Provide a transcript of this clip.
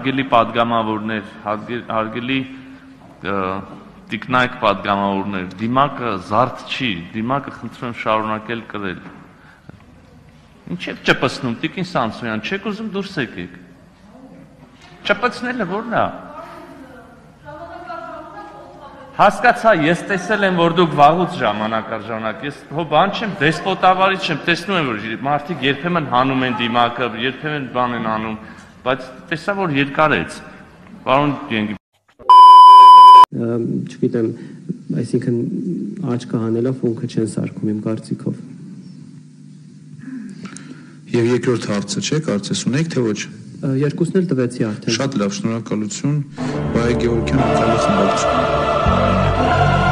Հարգելի պատգամավորներ, հարգելի տիկնայք պատգամավորներ, դիմակը զարդ չի, դիմակը խնդրում եմ շարունակել կրել։ Ինչ եք ճպցնում, Տիկին Սամսոնյան, չեք ուզում դուրս եկեք։ Ճպցնելը ո՞րն է։ Հասկացա, ես տեսել եմ, որ դուք վաղուց ժամանակ առ ժամանակ, ես հո բան չեմ, դեսպոտավարի չեմ, տեսնում եմ, որ մարդիկ երբեմն հանում են դիմակը, երբեմն բան են անում, բայց տեսա, որ երկարեց։ Պարոն Գենգի։ Չգիտեմ, այսինքն աչքը հանելով ունքը չեն սարքում իմ կարծիքով։ Եվ երկրորդ հարցը չէ, կարծես ունեք, թե ոչ։ Երկուսն էլ տվեցի արդեն։ Շատ լավ, շնորհակալություն, Բայ Գեորգյան, Մихայել Խմբակցություն։